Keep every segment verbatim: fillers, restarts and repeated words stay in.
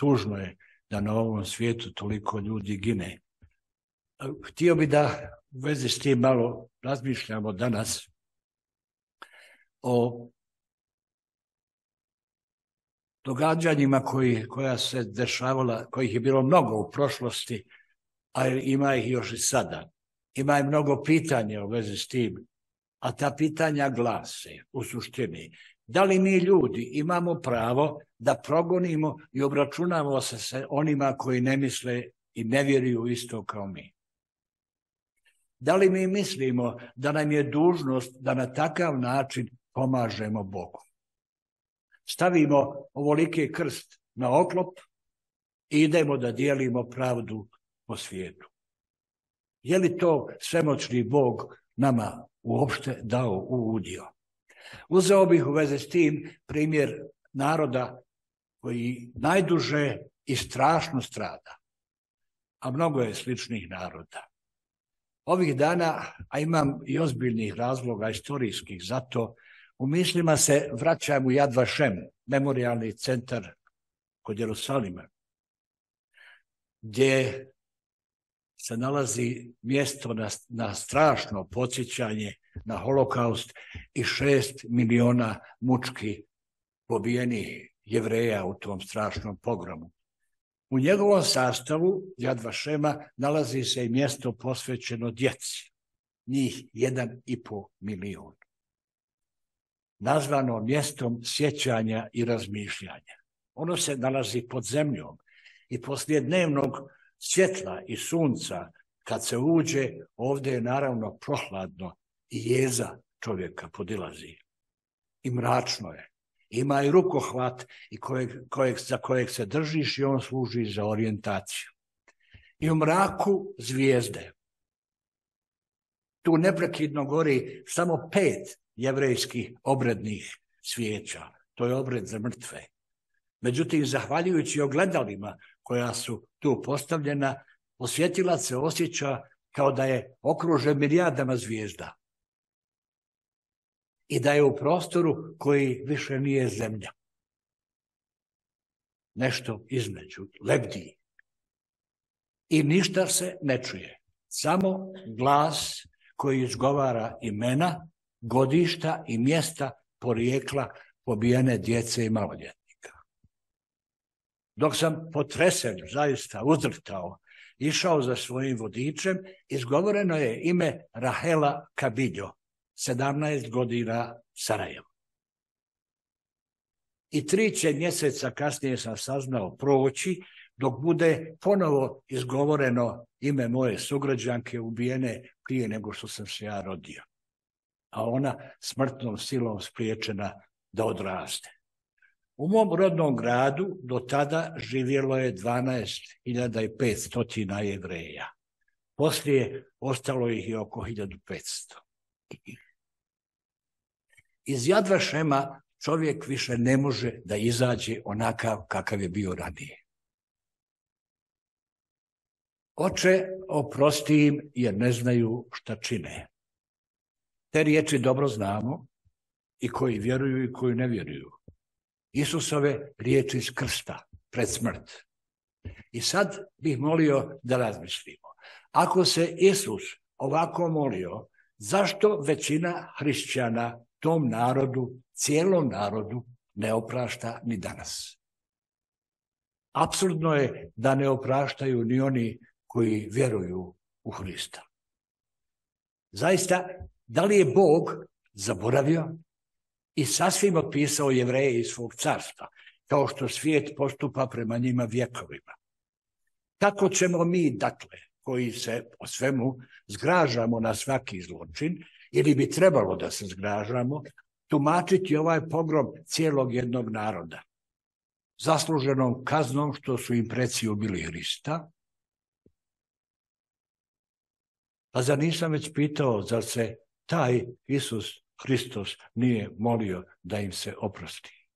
tužno je da na ovom svijetu toliko ljudi gine. Htio bi da u vezi s tim malo razmišljamo danas o događanjima koji, koja se dešavala, kojih je bilo mnogo u prošlosti, a ima ih još i sada. Ima i mnogo pitanja u vezi s tim, a ta pitanja glase u suštini. Da li mi ljudi imamo pravo da progonimo i obračunamo se sa onima koji ne misle i ne vjeruju isto kao mi? Da li mi mislimo da nam je dužnost da na takav način pomažemo Bogu? Stavimo ovoliki krst na oklop i idemo da dijelimo pravdu po svijetu. Je li to svemoćni Bog nama uopšte dao u udio? Uzeo bih u vezi s tim primjer naroda koji najduže i strašno strada, a mnogo je sličnih naroda. Ovih dana, a imam i ozbiljnih razloga istorijskih za to, u mislima se vraćam u Yad Vashem, memorijalni centar kod Jerusalima, gdje se nalazi mjesto na, na strašno podsjećanje na holokaust i šest miliona mučki pobijenih Jevreja u tom strašnom pogromu. U njegovom sastavu Yad Vashema nalazi se i mjesto posvećeno djeci, njih jedan i po milion. Nazvano mjestom sjećanja i razmišljanja. Ono se nalazi pod zemljom i poslije dnevnog svjetla i sunca, kad se uđe, ovdje je naravno prohladno i jeza čovjeka podilazi. I mračno je. Ima i rukohvat i kojeg, kojeg, za kojeg se držiš i on služi za orijentaciju. I u mraku zvijezde. Tu neprekidno gori samo pet jevrejskih obrednih svijeća. To je obred za mrtve. Međutim, zahvaljujući ogledalima koja su tu postavljena, posjetilac se osjeća kao da je okružen milijardama zvijezda i da je u prostoru koji više nije zemlja. Nešto između, lebdi. I ništa se ne čuje. Samo glas koji izgovara imena, godišta i mjesta porijekla pobijene djece i maloljetnika. Dok sam potresen, zaista uzdrhtao, išao za svojim vodičem, izgovoreno je ime Rahela Kabiljo, sedamnaest godina, Sarajevo. I tri će mjeseca kasnije sam saznao proći, dok bude ponovo izgovoreno ime moje sugrađanke ubijene prije nego što sam se ja rodio. A ona smrtnom silom spriječena da odraste. U mom rodnom gradu do tada živjelo je dvanaest hiljada petsto Jevreja. Poslije ostalo ih je oko hiljadu petsto. Iz Yad Vashema čovjek više ne može da izađe onakav kakav je bio ranije. Oče, oprosti im jer ne znaju šta čine. Te riječi dobro znamo i koji vjeruju i koji ne vjeruju. Isusove riječi iz krsta pred smrt. I sad bih molio da razmislimo. Ako se Isus ovako molio, zašto većina hrišćana tom narodu, cijelom narodu, ne oprašta ni danas? Apsurdno je da ne opraštaju ni oni koji vjeruju u Hrista. Zaista, da li je Bog zaboravio i sasvim opisao Jevreje iz svog carstva, kao što svijet postupa prema njima vjekovima? Kako ćemo mi, dakle, koji se o svemu zgražamo na svaki zločin, ili bi trebalo da se zgražamo, tumačiti ovaj pogrom cijelog jednog naroda, zasluženom kaznom što su im preci ubili Hrista? A zar nisam već pitao, zar se taj Isus Hristos nije molio da im se oprosti?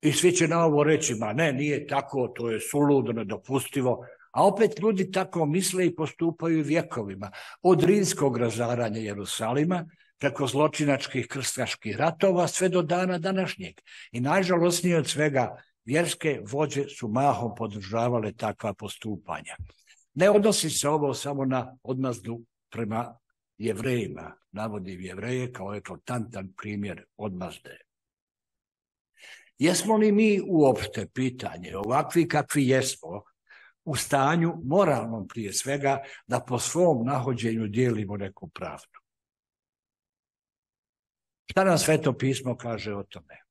I svi će na ovo reći, ma ne, nije tako, to je suludo, nedopustivo. A opet ljudi tako misle i postupaju vjekovima. Od rimskog razaranja Jerusalima, preko zločinačkih krstaških ratova, sve do dana današnjeg. I najžalosnije od svega, vjerske vođe su mahom podržavale takva postupanja. Ne odnosi se ovo samo na odmazdu prema Jevrejima, navodim Jevreje kao eklatantan primjer odmazde. Jesmo li mi uopšte, pitanje, ovakvi kakvi jesmo, u stanju moralnom prije svega da po svom nahođenju dijelimo neku pravdu? Šta nam Sveto pismo kaže o tome?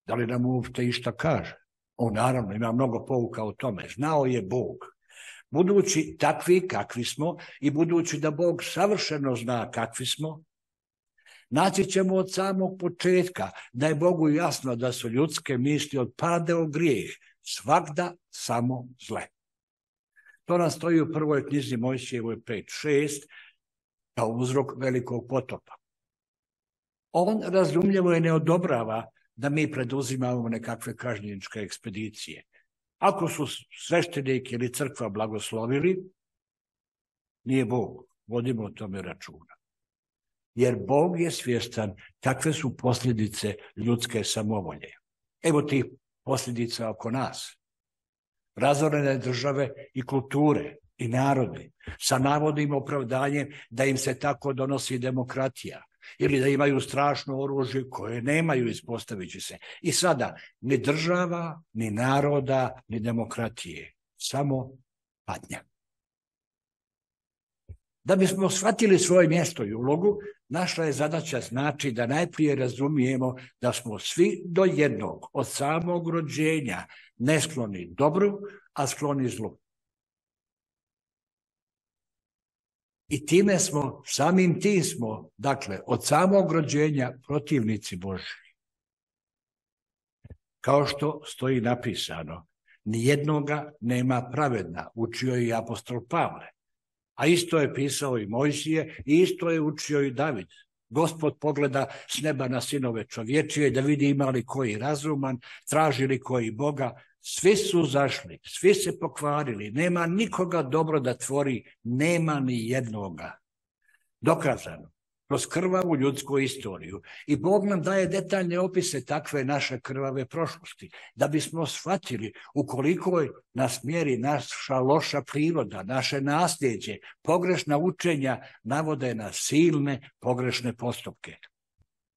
Da li nam uopšte išta kaže? On naravno ima mnogo pouka o tome. Znao je Bog. Budući takvi kakvi smo i budući da Bog savršeno zna kakvi smo, naći ćemo od samog početka da je Bogu jasno da su ljudske misli od pada u grijeh svagda samo zle. To nam stoji u prvoj knjizi Mojsijevoj pet šest kao uzrok velikog potopa. On razumljivo je ne odobrava da mi preduzimamo nekakve kažnjeničke ekspedicije. Ako su sveštenik ili crkva blagoslovili, nije Bog, vodimo o tome računa. Jer Bog je svjestan kakve su posljedice ljudske samovolje. Evo ti posljedica oko nas. Razorene države i kulture i narodi sa navodnim opravdanjem da im se tako donosi demokratija ili da imaju strašno oružje koje nemaju, ispostavit će se. I sada ni država, ni naroda, ni demokratije, samo patnja. Da bismo shvatili svoje mjesto i ulogu, naša je zadaća znači da najprije razumijemo da smo svi do jednog, od samog rođenja, ne skloni dobru, a skloni zlu. I time smo, samim tim smo, dakle, od samog rođenja protivnici Božji. Kao što stoji napisano, nijednoga nema pravedna, učio je i apostol Pavle. A isto je pisao i Mojsije i isto je učio i David. Gospod pogleda s neba na sinove čovječije da vidi ima li koji razuman, traži li koji Boga. Svi su zašli, svi se pokvarili, nema nikoga dobro da tvori, nema ni jednoga. Dokazano, kroz krvavu ljudsku istoriju. I Bog nam daje detaljne opise takve naše krvave prošlosti, da bismo shvatili ukoliko nas mjeri naša loša priroda, naše nasljeđe, pogrešna učenja navode na silne pogrešne postupke.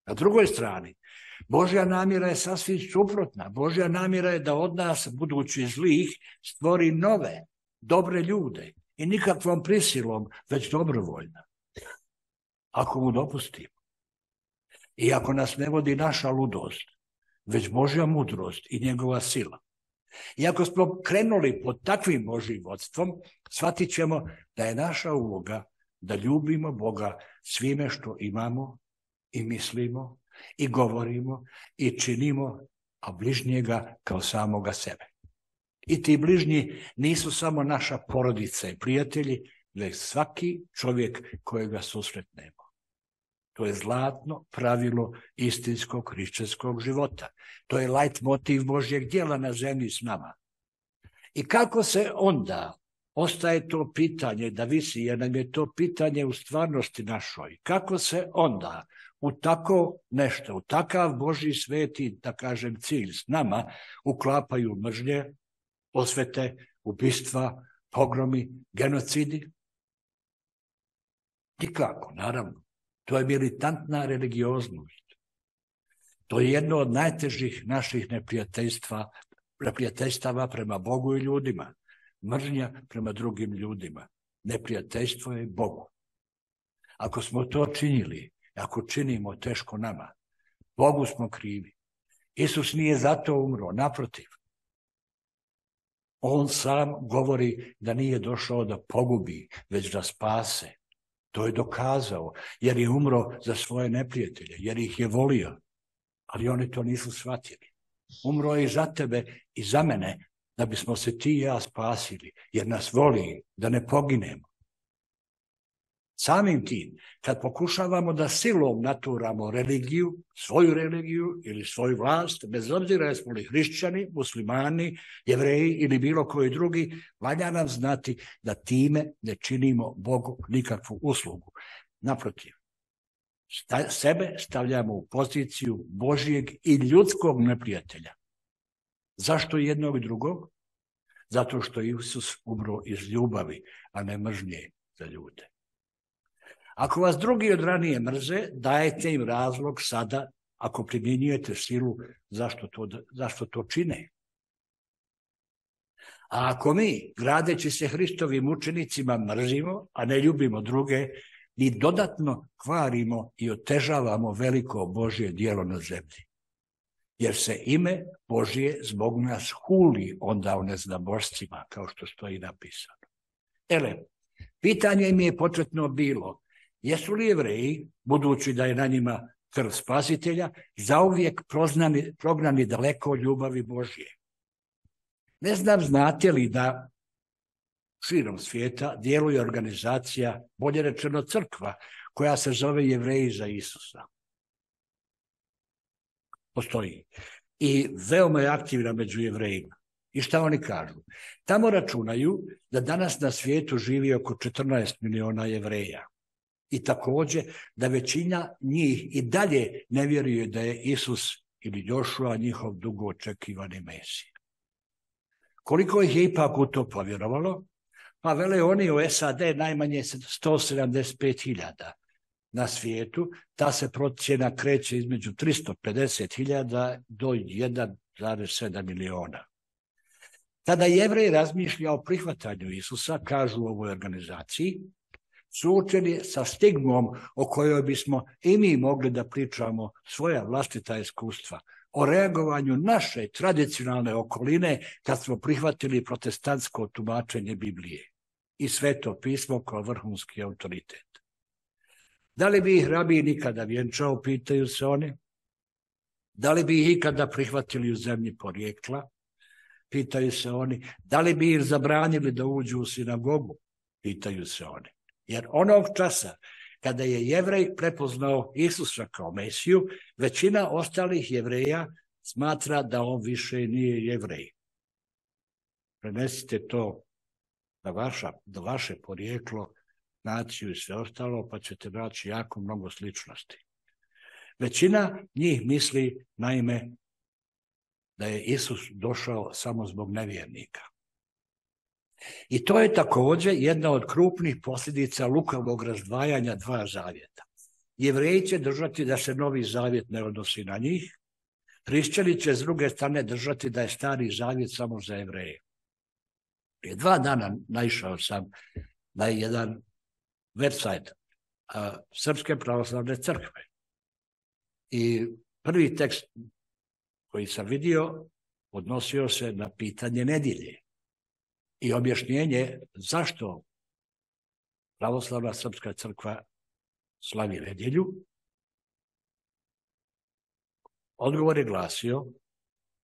Na drugoj strani, Božja namjera je sasvim suprotna. Božja namjera je da od nas, budući zlih, stvori nove, dobre ljude i nikakvom prisilom, već dobrovoljno. Ako mu dopustimo. I ako nas ne vodi naša ludost, već Božja mudrost i njegova sila. I ako smo krenuli pod takvim Božjim vodstvom, shvatit ćemo da je naša uloga da ljubimo Boga svime što imamo i mislimo i govorimo i činimo, a bližnjega kao samoga sebe. I ti bližnji nisu samo naša porodica i prijatelji, već svaki čovjek kojega susretnemo. To je zlatno pravilo istinskog hrišćanskog života. To je lajt motiv Božjeg djela na zemlji s nama. I kako se onda ostaje to pitanje da visi, jer nam je to pitanje u stvarnosti našoj. Kako se onda u tako nešto, u takav Božji sveti, da kažem, cilj s nama uklapaju mržnje, osvete, ubistva, pogromi, genocidi? Nikako, naravno. To je militantna religioznost. To je jedno od najtežih naših neprijateljstva, neprijateljstava prema Bogu i ljudima. Mržnja prema drugim ljudima. Neprijateljstvo je Bogu. Ako smo to činili, ako činimo teško nama, Bogu smo krivi. Isus nije zato umro, naprotiv. On sam govori da nije došao da pogubi, već da spase. To je dokazao, jer je umro za svoje neprijatelje, jer ih je volio. Ali oni to nisu shvatili. Umro je i za tebe i za mene, da bismo se ti i ja spasili, jer nas voli da ne poginemo. Samim tim, kad pokušavamo da silom naturamo religiju, svoju religiju ili svoju vlast, bez obzira jesmo li hrišćani, muslimani, jevreji ili bilo koji drugi, valja nam znati da time ne činimo Bogu nikakvu uslugu. Naprotiv, sta, sebe stavljamo u poziciju Božjeg i ljudskog neprijatelja. Zašto jednog i drugog? Zato što je Isus umro iz ljubavi, a ne mržnje za ljude. Ako vas drugi od ranije mrze, dajete im razlog sada, ako primjenjujete silu, zašto to, zašto to čine. A ako mi, gradeći se Hristovim učenicima, mrzimo, a ne ljubimo druge, mi dodatno kvarimo i otežavamo veliko Božje djelo na zemlji. Jer se ime Božje zbog nas huli onda o neznabošcima, kao što stoji napisano. Ele, pitanje im je početno bilo, jesu li Jevreji, budući da je na njima krv Spasitelja, zauvijek prognani, prognani daleko od ljubavi Božje? Ne znam, znate li da širom svijeta djeluje organizacija, bolje rečeno crkva, koja se zove Jevreji za Isusa. Postoji. I veoma je aktivna među Jevrejima. I šta oni kažu? Tamo računaju da danas na svijetu živi oko četrnaest miliona Jevreja. I također da većina njih i dalje ne vjeruje da je Isus ili Jošua njihov dugo očekivani Mesija. Koliko ih je ipak u to povjerovalo? Pa vele oni u S A D najmanje sto sedamdeset pet hiljada. Na svijetu ta se procjena kreće između tristo pedeset hiljada do jedan zarez sedam miliona. Kada Jevrej razmišlja o prihvatanju Isusa, kažu u ovoj organizaciji, suočeni sa stigmom o kojoj bismo i mi mogli da pričamo svoja vlastita iskustva, o reagovanju naše tradicionalne okoline kad smo prihvatili protestantsko tumačenje Biblije i Sveto pismo kao vrhunski autoritet. Da li bi ih rabiji nikada vjenčao, pitaju se oni? Da li bi ih ikada prihvatili u zemlji porijekla? Pitaju se oni. Da li bi ih zabranili da uđu u sinagogu? Pitaju se oni. Jer onog časa kada je Jevrej prepoznao Isusa kao Mesiju, većina ostalih Jevreja smatra da on više nije Jevrej. Prenesite to na, vaša, na vaše porijeklo, naciju i sve ostalo, pa ćete naći jako mnogo sličnosti. Većina njih misli, naime, da je Isus došao samo zbog nevjernika. I to je također jedna od krupnih posljedica lukavog razdvajanja dva zavjeta. Jevreji će držati da se novi zavjet ne odnosi na njih, hrišćani će s druge strane držati da je stari zavjet samo za Jevreje. Prije dva dana naišao sam na jedan website a, Srpske pravoslavne crkve. I prvi tekst koji sam vidio odnosio se na pitanje nedjelje i objašnjenje zašto pravoslavna srpska crkva slavi nedjelju. Odgovor je glasio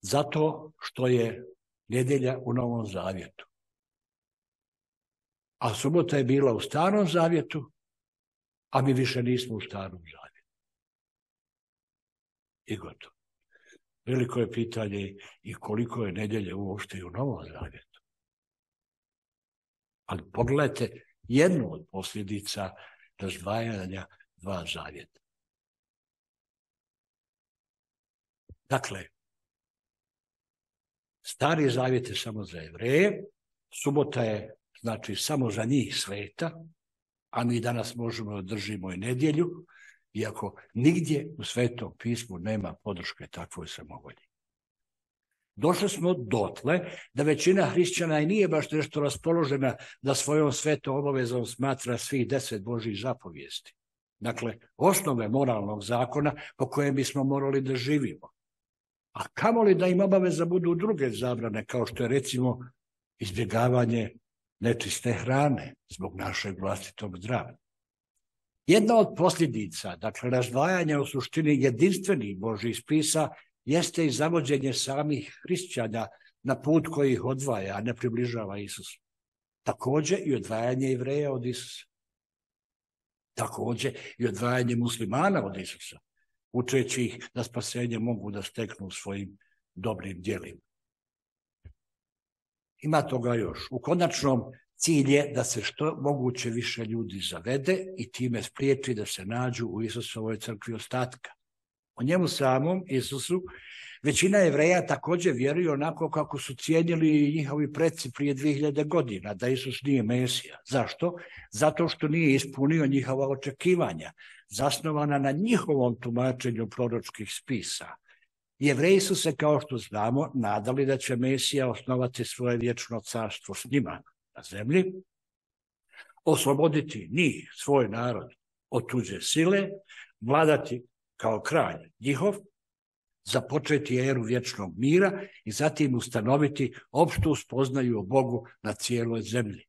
zato što je nedjelja u Novom zavjetu. A subota je bila u Starom zavjetu, a mi više nismo u Starom zavjetu. I gotovo. Veliko je pitanje i koliko je nedjelje uopšte u Novom zavjetu. Ali pogledajte jednu od posljedica razdvajanja dva zavjeta. Dakle, Stari zavjet je samo za Jevreje, subota je znači samo za njih sveta, a mi danas možemo da držimo i nedjelju, iako nigdje u Svetom pismu nema podrške takvoj samovolji. Došli smo dotle da većina hrišćana i nije baš nešto raspoložena da svojom svetom obavezom smatra svih deset Božjih zapovijesti. Dakle, osnove moralnog zakona po kojem bismo morali da živimo. A kamoli da im obaveza budu druge zabrane, kao što je recimo izbjegavanje nečiste hrane zbog našeg vlastitog zdravlja. Jedna od posljedica, dakle razdvajanja u suštini jedinstvenih Božjih spisa, jeste i zavođenje samih hrišćana na put koji ih odvaja, a ne približava Isusu. Također i odvajanje Jevreja od Isusa. Također i odvajanje muslimana od Isusa, učeći ih da spasenje mogu da steknu svojim dobrim djelima. Ima toga još. U konačnom cilj je da se što moguće više ljudi zavede i time spriječi da se nađu u Isusovoj crkvi ostatka. O njemu samom, Isusu, Većina Jevreja također vjeruje onako kako su cijenili njihovi preci prije dvije hiljade godina, da Isus nije Mesija. Zašto? Zato što nije ispunio njihova očekivanja, zasnovana na njihovom tumačenju proročkih spisa. Jevreji su se, kao što znamo, nadali da će Mesija osnovati svoje vječno carstvo s njima na zemlji, osloboditi njih, svoj narod, od tuđe sile, vladati kao kralj njihov, započeti eru vječnog mira i zatim ustanoviti opštu spoznaju o Bogu na cijeloj zemlji.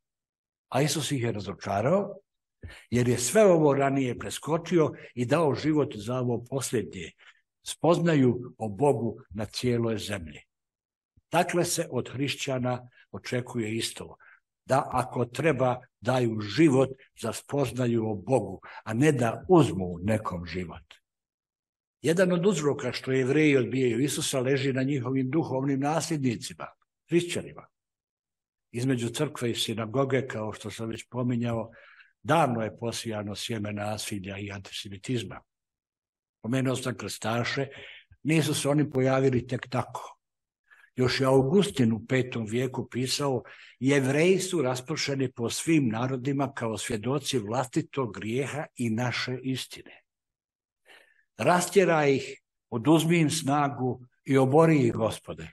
A Isus ih je razočarao, jer je sve ovo ranije preskočio i dao život za ovo posljednje, spoznaju o Bogu na cijeloj zemlji. Dakle se od hrišćana očekuje isto, da ako treba daju život za spoznaju o Bogu, a ne da uzmu nekom život. Jedan od uzroka što Jevreji odbijaju Isusa leži na njihovim duhovnim nasljednicima, hrišćanima. Između crkve i sinagoge, kao što sam već pominjao, davno je posijano sjeme nasilja i antisemitizma. Pomenuo sam krstaše, nisu se oni pojavili tek tako. Još je Augustin u petom vijeku pisao: Jevreji su raspršeni po svim narodima kao svjedoci vlastitog grijeha i naše istine. Rastjera ih, oduzmi im snagu i obori ih, Gospode.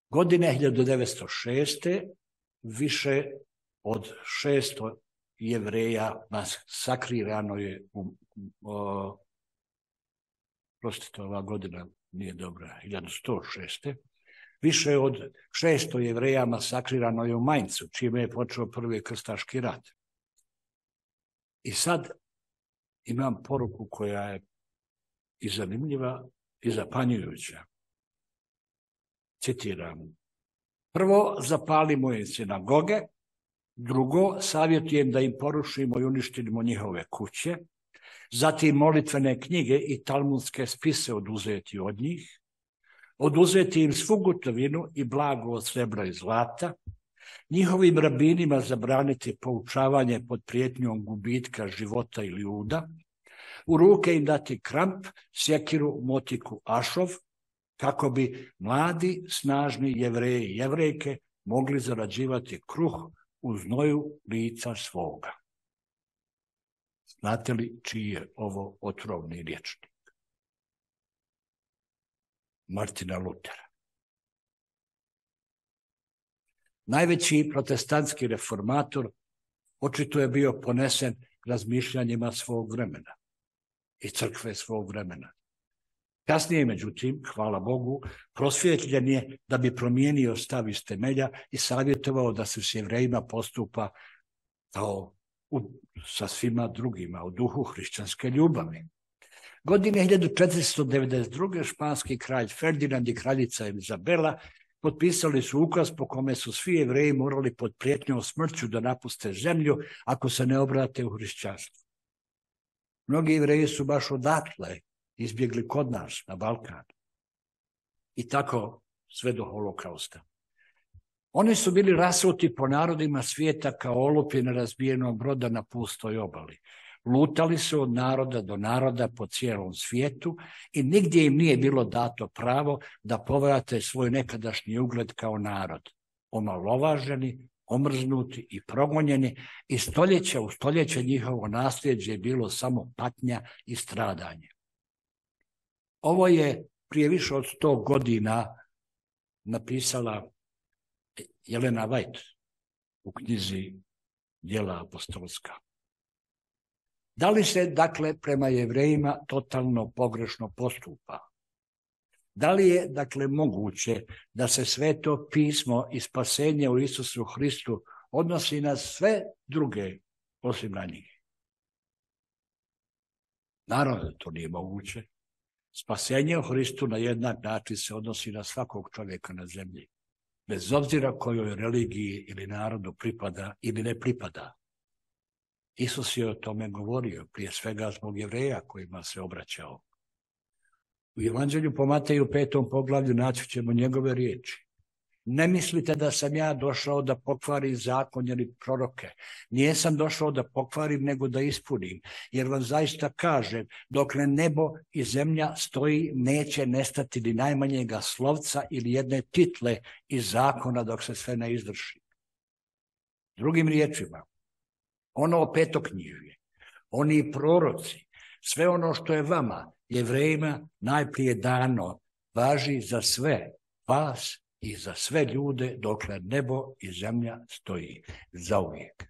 Godine hiljadu devetsto šeste više od šesto Jevreja masakrirano je u, o, prostite, ova godina nije dobra, hiljadu sto šeste Više od šesto Jevreja masakrirano je u Mainzu, čime je počeo prvi krstaški rat. I sad imam poruku koja je i zanimljiva i zapanjujuća. Citiram: prvo, zapalimo im sinagoge. Drugo, savjetujem da im porušimo i uništimo njihove kuće. Zatim, molitvene knjige i talmudske spise oduzeti od njih. Oduzeti im svu gotovinu i blago od srebra i zlata. Njihovim rabinima zabraniti poučavanje pod prijetnjom gubitka života ili uda. U ruke im dati kramp, sjekiru, motiku, ašov, kako bi mladi, snažni Jevreji i Jevrejke mogli zarađivati kruh u znoju lica svoga. Znate li čiji je ovo otrovni rječnik? Martina Lutera. Najveći protestantski reformator očito je bio ponesen razmišljanjima svog vremena i crkve svog vremena. Kasnije, međutim, hvala Bogu, prosvjetljen je da bi promijenio stav iz temelja i savjetovao da se s Jevrejima postupa kao u, sa svima drugima u duhu hrišćanske ljubavi. Godine hiljadu četiristo devedeset druge španski kralj Ferdinand i kraljica Izabela potpisali su ukaz po kome su svi Jevreji morali pod prijetnjom smrću da napuste zemlju ako se ne obrate u hrišćanstvo. Mnogi Jevreji su baš odatle izbjegli kod nas na Balkan. I tako sve do holokausta. Oni su bili rasuti po narodima svijeta kao olupi na razbijenom broda na pustoj obali. Lutali su od naroda do naroda po cijelom svijetu i nigdje im nije bilo dato pravo da povrate svoj nekadašnji ugled kao narod. Omalovaženi, omrznuti i progonjeni i stoljeća u stoljeće njihovo nasljeđe je bilo samo patnja i stradanje. Ovo je prije više od sto godina napisala Jelena White u knjizi Djela apostolska. Da li se, dakle, prema Jevrejima totalno pogrešno postupa? Da li je, dakle, moguće da se Sveto pismo i spasenje u Isusu Hristu odnosi na sve druge osim na njih? Naravno da to nije moguće. Spasenje u Hristu na jednak način se odnosi na svakog čovjeka na zemlji, bez obzira kojoj religiji ili narodu pripada ili ne pripada. Isus je o tome govorio, prije svega zbog Jevreja kojima se obraćao. U Evanđelju po Mateju petom poglavlju naći ćemo njegove riječi. Ne mislite da sam ja došao da pokvarim zakon ili proroke. Nijesam došao da pokvarim, nego da ispunim. Jer vam zaista kažem, dokle nebo i zemlja stoji, neće nestati ni najmanjega slovca ili jedne title iz zakona dok se sve ne izvrši. Drugim riječima, ono petoknjižje, oni proroci, sve ono što je vama, Jevrejima, najprije dano, važi za sve vas i za sve ljude dokle nebo i zemlja stoji zauvijek.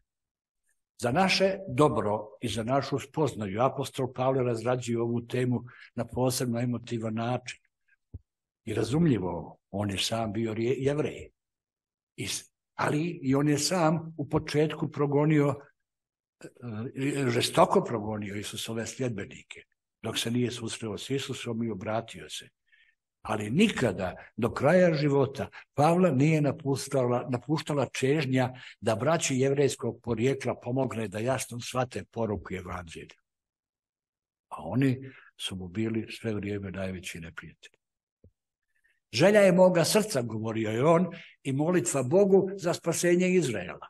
Za naše dobro i za našu spoznaju apostol Pavle razrađuje ovu temu na posebno emotivan način. I razumljivo, on je sam bio Jevrej. Ali i on je sam u početku progonio, žestoko progonio Isusove sljedbenike, dok se nije susreo s Isusom i obratio se. Ali nikada do kraja života Pavla nije napuštala, napuštala čežnja da braći jevrejskog porijekla pomogne da jasno shvate poruku evanđelja. A oni su mu bili sve vrijeme najveći neprijatelji. Želja je moga srca, govorio je on, i molitva Bogu za spasenje Izraela.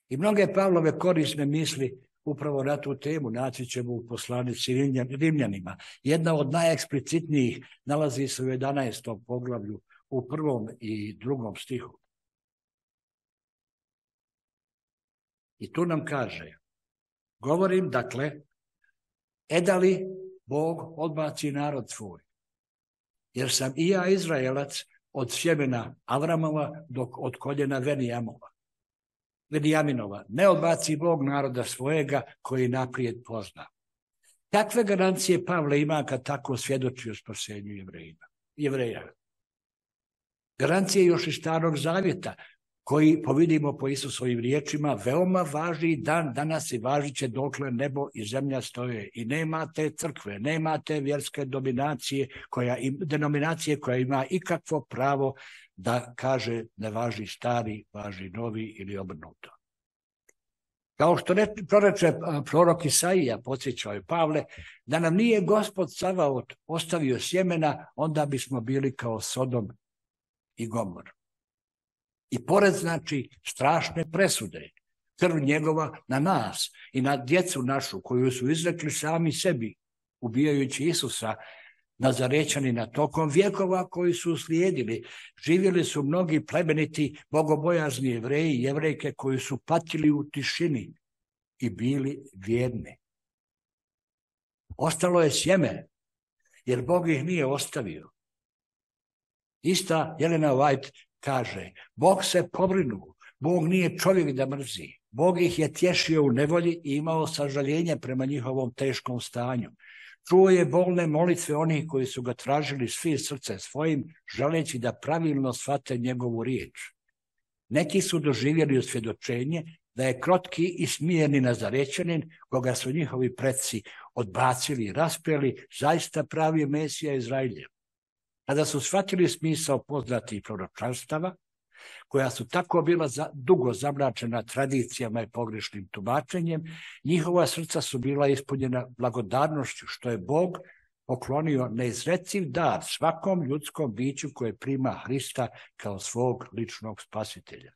I mnoge Pavlove korisne misli upravo na tu temu naći ćemo u poslanici Rimljanima. Jedna od najeksplicitnijih nalazi se u jedanaestom poglavlju u prvom i drugom stihu. I tu nam kaže, govorim dakle, e da li Bog odbaci narod svoj? Jer sam i ja Izraelac od sjemena Avramova dok od koljena Venijamova. Venijaminova, ne odbaci Bog naroda svojega koji naprijed pozna. Kakve garancije Pavle ima kad tako svjedoči o spasenju Jevreja? Garancije još iz Starog Zavjeta, koji, povidimo po Isusovim riječima, veoma važi i dan danas i važit će dokle nebo i zemlja stoje. I nema te crkve, nema te vjerske dominacije koja, denominacije koja ima ikakvo pravo da kaže ne važi stari, važi novi ili obrnuto. Kao što ne, proreče prorok Isaija, podsjećao je Pavle, da nam nije Gospod Savaot ostavio sjemena, onda bismo bili kao Sodom i Gomor. I pored znači strašne presude, krv njegova na nas i na djecu našu koju su izrekli sami sebi, ubijajući Isusa, Nazarećanina, tokom vjekova koji su uslijedili, živjeli su mnogi plemeniti, bogobojazni Jevreji i Jevrejke koji su patili u tišini i bili vjerni. Ostalo je sjeme, jer Bog ih nije ostavio. Ista Jelena White kaže, Bog se pobrinuo, Bog nije čovjek da mrzi. Bog ih je tješio u nevolji i imao sažaljenje prema njihovom teškom stanju. Čuo je bolne molitve onih koji su ga tražili svi srcem svojim, želeći da pravilno shvate njegovu riječ. Neki su doživjeli osvjedočenje da je krotki i smireni Nazarećanin, koga su njihovi preci odbacili i raspeli, zaista pravi Mesija Izraeljev. Kada su shvatili smisao poznatih proročanstava, koja su tako bila za, dugo zamračena tradicijama i pogrešnim tumačenjem, njihova srca su bila ispunjena blagodarnošću, što je Bog poklonio neizreciv dar svakom ljudskom biću koje prima Hrista kao svog ličnog spasitelja.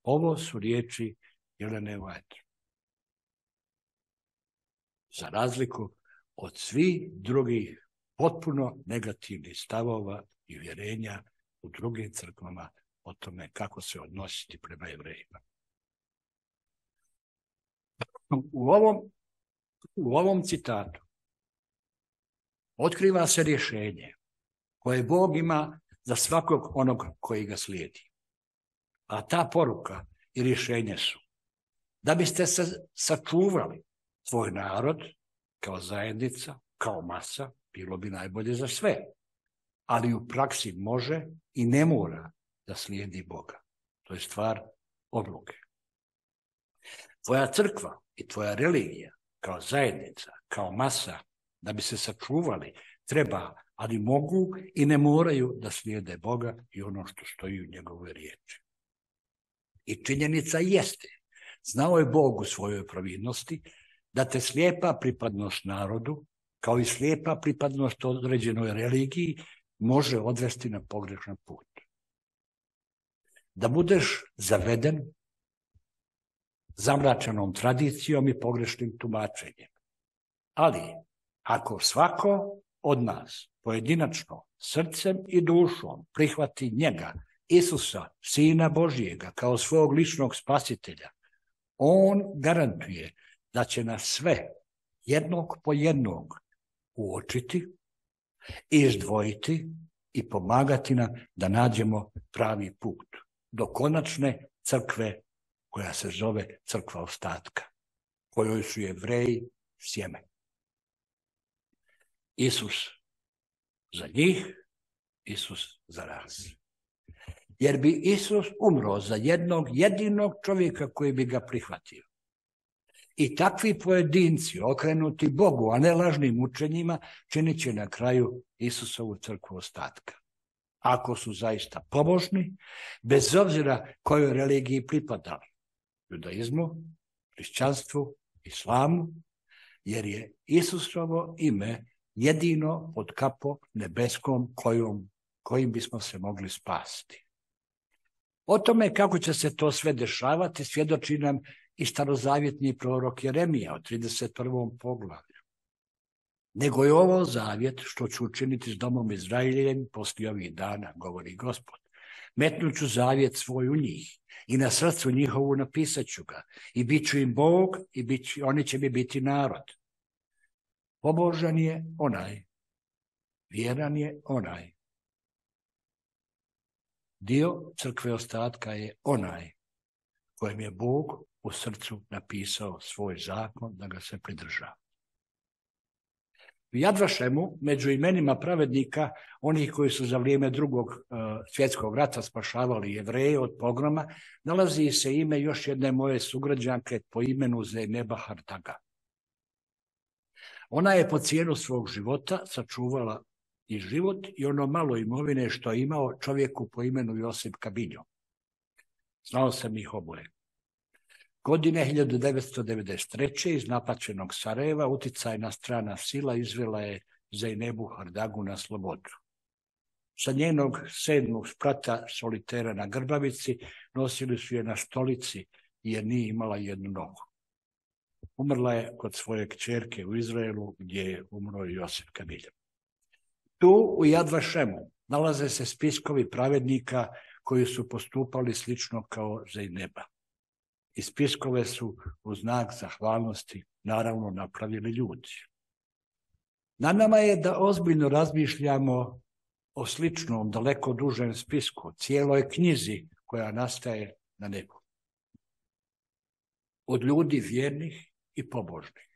Ovo su riječi Jelene White. Za razliku od svih drugih potpuno negativnih stavova i uvjerenja u drugim crkvama o tome kako se odnositi prema Jevrejima. U ovom, u ovom citatu otkriva se rješenje koje Bog ima za svakog onog koji ga slijedi. A ta poruka i rješenje su da biste se sačuvali svoj narod kao zajednica, kao masa, bilo bi najbolje za sve. Ali u praksi može i ne mora da slijedi Boga. To je stvar odluke. Tvoja crkva i tvoja religija kao zajednica, kao masa, da bi se sačuvali, treba, ali mogu i ne moraju da slijede Boga i ono što stoji u njegovoj riječi. I činjenica jeste, znao je Bog u svojoj pravilnosti da te slijepa pripadnost narodu, kao i slijepa pripadnost određenoj religiji, može odvesti na pogrešan put. da budeš zaveden zamračenom tradicijom i pogrešnim tumačenjem. Ali, ako svako od nas pojedinačno, srcem i dušom prihvati njega, Isusa, Sina Božijega, kao svog ličnog spasitelja, on garantuje da će nas sve jednog po jednog uočiti, izdvojiti i pomagati nam da nađemo pravi put do konačne crkve koja se zove crkva ostatka, kojoj su Jevreji sjeme. Isus za njih, Isus za nas. Jer bi Isus umro za jednog jedinog čovjeka koji bi ga prihvatio. I takvi pojedinci okrenuti Bogu, a ne lažnim učenjima, činit će na kraju Isusovu crkvu ostatka. Ako su zaista pobožni, bez obzira kojoj religiji pripadali, judaizmu, hrišćanstvu, islamu, jer je Isusovo ime jedino pod kapom nebeskom kojom, kojim bismo se mogli spasti. O tome kako će se to sve dešavati svjedoči nam i starozavjetni prorok Jeremija od trideset prvom poglavlju. Nego je ovo zavjet što ću učiniti s domom Izraeljevim poslije ovih dana, govori Gospod. Metnut ću zavjet svoj u njih i na srcu njihovu napisat ću ga i bit ću im Bog i bit ću, oni će mi biti narod. Pobožan je onaj, vjeran je onaj. Dio crkve ostatka je onaj kojem je Bog u srcu napisao svoj zakon da ga se pridržava. U Jad Vašemu, među imenima pravednika, onih koji su za vrijeme drugog uh, svjetskog rata spašavali Jevreje od pogroma, nalazi se ime još jedne moje sugrađanke po imenu Zejneba Hardaga. Ona je po cijenu svog života sačuvala i život i ono malo imovine što je imao čovjeku po imenu Josip Kabinjo. Znao sam ih oboje. Godine hiljadu devetsto devedeset treće iz napaćenog Sarajeva uticajna strana sila izvela je Zejnebu Hardagu na slobodu. Sa njenog sedmog sprata solitera na grbavici nosili su je na stolici jer nije imala jednu nogu. Umrla je kod svoje kćerke u Izraelu gdje je umro Josip Kabinjo. Tu u Jad Vašemu nalaze se spiskovi pravednika koji su postupali slično kao Zejneba. I spiskove su u znak zahvalnosti naravno napravili ljudi. Na nama je da ozbiljno razmišljamo o sličnom, daleko dužem spisku, cijeloj knjizi koja nastaje na nebu. Od ljudi vjernih i pobožnih.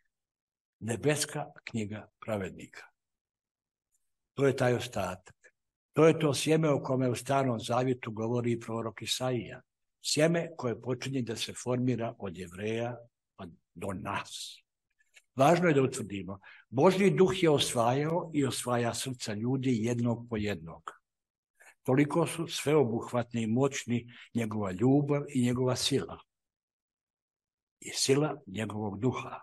Nebeska knjiga pravednika. To je taj ostatak. To je to sjeme o kome u Starom zavjetu govori i prorok Isaija. Sjeme koje počinje da se formira od Jevreja pa do nas. Važno je da utvrdimo, Božji duh je osvajao i osvaja srca ljudi jednog po jednog. Toliko su sveobuhvatni i moćni njegova ljubav i njegova sila. I sila njegovog duha.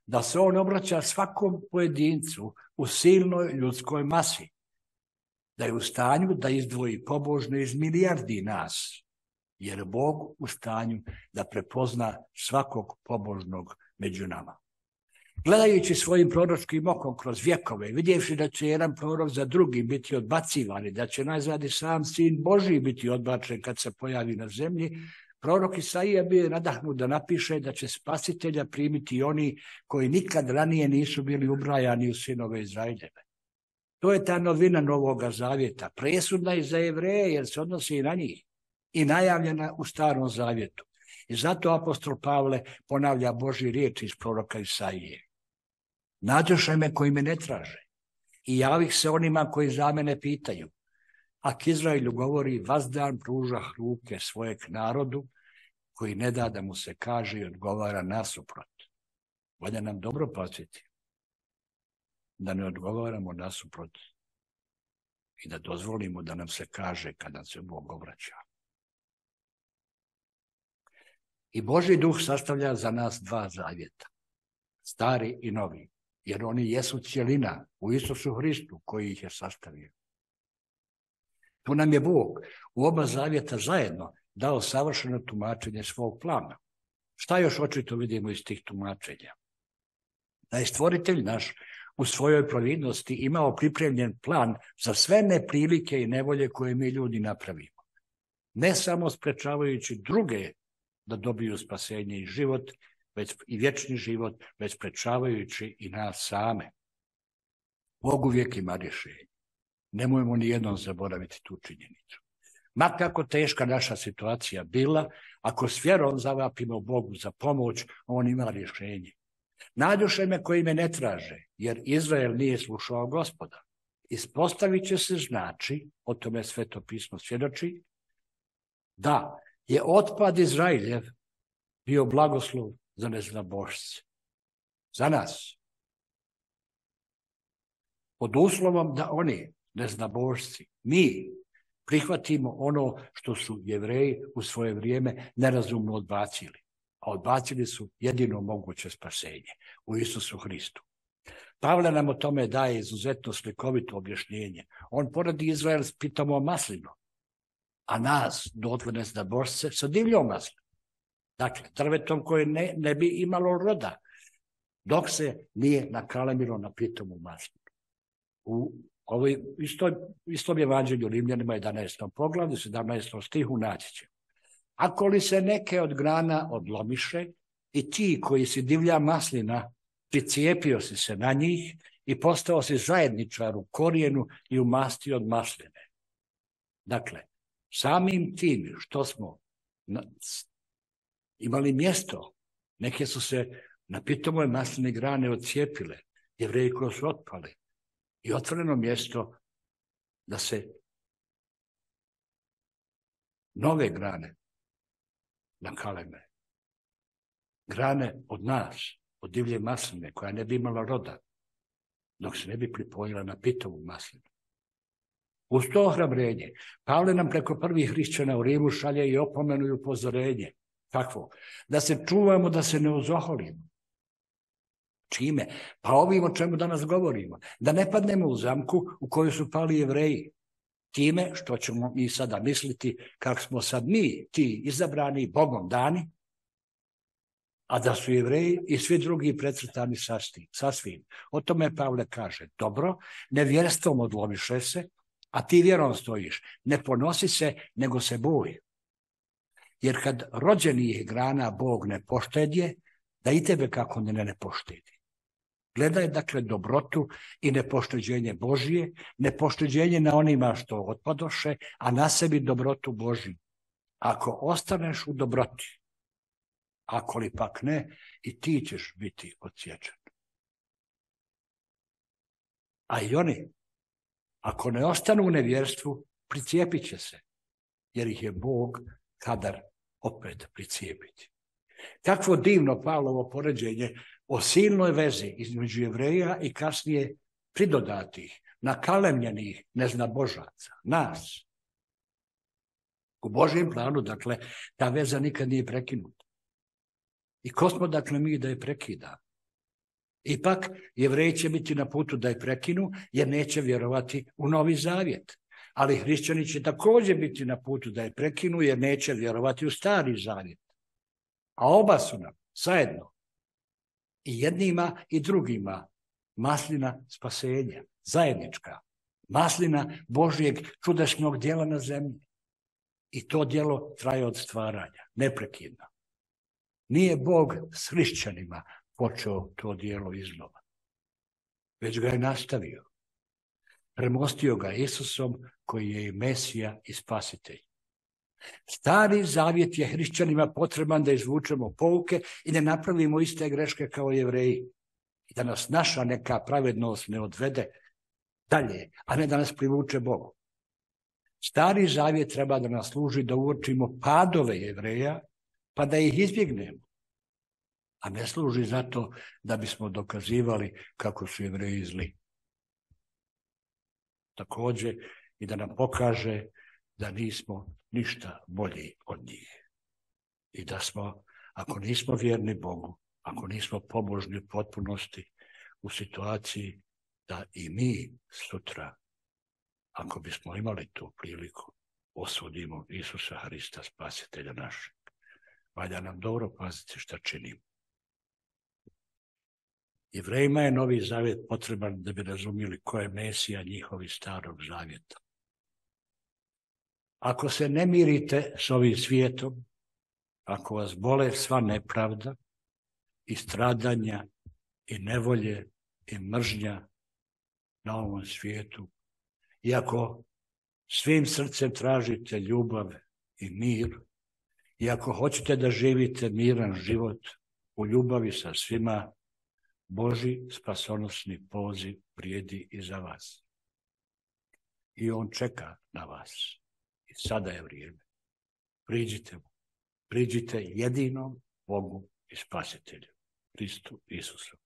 Da se on obraća svakom pojedincu u silnoj ljudskoj masi. Da je u stanju da izdvoji pobožne iz milijardi nas. Jer je Bog u stanju da prepozna svakog pobožnog među nama. Gledajući svojim proročkim okom kroz vjekove, vidjevši da će jedan prorok za drugi biti odbacivan i da će najzad i sam Sin Božji biti odbačen kad se pojavi na zemlji, prorok Isaija bio je nadahnut da napiše da će spasitelja primiti oni koji nikad ranije nisu bili ubrajani u sinove Izraeljeve. To je ta novina Novoga Zavjeta, presudna i za Jevreje jer se odnosi i na njih. I najavljena u Starom zavjetu. I zato apostol Pavle ponavlja Božji riječ iz proroka Isaije. Nađoše me koji me ne traže i javih se onima koji za mene pitaju. A k Izraelju govori vazdan pružah ruke svojeg narodu koji ne da da mu se kaže i odgovara nasuprot. Valja nam dobro paziti da ne odgovaramo nasuprot i da dozvolimo da nam se kaže kada se Bog obraća. I Božji duh sastavlja za nas dva zavjeta, stari i novi, jer oni jesu cjelina u Isusu Hristu koji ih je sastavio. Tu nam je Bog u oba zavjeta zajedno dao savršeno tumačenje svog plana. Šta još očito vidimo iz tih tumačenja? Da je stvoritelj naš u svojoj providnosti imao pripremljen plan za sve neprilike i nevolje koje mi ljudi napravimo. Ne samo sprečavajući druge da dobiju spasenje i život, već i vječni život, već sprečavajući i nas same. Bog uvijek ima rješenje. Nemojmo ni jednom zaboraviti tu činjenicu. Ma kako teška naša situacija bila, ako s vjerom zavapimo Bogu za pomoć, on ima rješenje. Nađoše me koji me ne traže, jer Izrael nije slušao Gospoda. Ispostavit će se znači, o tome Sveto pismo svjedoči, da je otpad Izraeljev bio blagoslov za neznabošce. Za nas. Pod uslovom da oni, neznabošci, mi prihvatimo ono što su Jevreji u svoje vrijeme nerazumno odbacili. A odbacili su jedino moguće spasenje u Isusu Hristu. Pavle nam o tome daje izuzetno slikovito objašnjenje. On poredi Izrael s pitomom maslinom, a nas, dotle neznabošce, sa divljom maslinom. Dakle, drvetom koje ne, ne bi imalo roda, dok se nije nakalemilo na pitomu maslinu. U ovoj istom, istom evanđelju Rimljanima jedanaestom poglavlju, sedamnaestom stihu naći ćemo. Ako li se neke od grana odlomiše i ti koji si divlja maslina, pricijepio si se na njih i postao si zajedničar u korijenu i u masti od masline. Dakle, samim tim što smo imali mjesto, neke su se na pitomoj masline grane odcijepile, Jevreji koji su otpali, i otvoreno mjesto da se nove grane nakaleme. Grane od nas, od divlje masline, koja ne bi imala roda, dok se ne bi pripojila na pitovu maslinu. Uz to ohrabrenje, Pavle nam preko prvih hrišćana u Rimu šalje i opomenu i upozorenje. Kakvo? Da se čuvamo, da se ne ozoholimo. Čime? Pa ovim o čemu danas govorimo. Da ne padnemo u zamku u koju su pali Jevreji. Time što ćemo mi sada misliti kako smo sad mi, ti izabrani Bogom dani, a da su Jevreji i svi drugi precrtani sasvim. O tome Pavle kaže, dobro, nevjerstvom odlomiše se, a ti vjerom stojiš. Ne ponosi se, nego se boj. Jer kad rođenih grana Bog ne poštedje, da i tebe kako ne ne poštedi. Gledaj dakle dobrotu i nepošteđenje Božije, nepošteđenje na onima što otpadoše, a na sebi dobrotu Božiju. Ako ostaneš u dobroti, ako li pak ne, i ti ćeš biti odsječen. A i oni, ako ne ostanu u nevjerstvu, pricijepit će se, jer ih je Bog kadar opet pricijepiti. Kakvo divno Pavlovo poređenje o silnoj vezi između Jevreja i kasnije pridodatih, nakalemljenih neznabožaca, nas. U Božjem planu, dakle, ta veza nikad nije prekinuta. I ko smo, dakle, mi da je prekida? Ipak, Jevreji će biti na putu da je prekinu, jer neće vjerovati u Novi Zavjet. Ali hrišćani će također biti na putu da je prekinu, jer neće vjerovati u Stari Zavjet. A oba su nam, zajedno, i jednima i drugima, maslina spasenja, zajednička, maslina Božjeg čudašnog djela na zemlji. I to djelo traje od stvaranja, neprekidno. Nije Bog s hrišćanima počeo to djelo iznova, već ga je nastavio. Premostio ga Isusom, koji je i Mesija i Spasitelj. Stari Zavjet je hrišćanima potreban da izvučemo pouke i ne napravimo iste greške kao Jevreji. I da nas naša neka pravednost ne odvede dalje, a ne da nas privuče Bogu. Stari Zavjet treba da nas služi da uočimo padove Jevreja, pa da ih izbjegnemo. A ne služi zato da bismo dokazivali kako su Jevreji zli. Također i da nam pokaže da nismo ništa bolji od njih. I da smo, ako nismo vjerni Bogu, ako nismo pobožni u potpunosti, u situaciji da i mi sutra, ako bismo imali tu priliku, osudimo Isusa Hrista, spasitelja našeg. Valja nam dobro paziti šta činimo. Jevrejima je Novi Zavjet potreban da bi razumjeli ko je Mesija njihovi starog zavjeta. Ako se ne mirite s ovim svijetom, ako vas bole sva nepravda i stradanja i nevolje i mržnja na ovom svijetu, i ako svim srcem tražite ljubav i mir, i ako hoćete da živite miran život u ljubavi sa svima, Božji spasonosni poziv vrijedi i za vas. I on čeka na vas. I sada je vrijeme. Priđite mu. Priđite jedinom Bogu i Spasitelju, Hristu Isusu.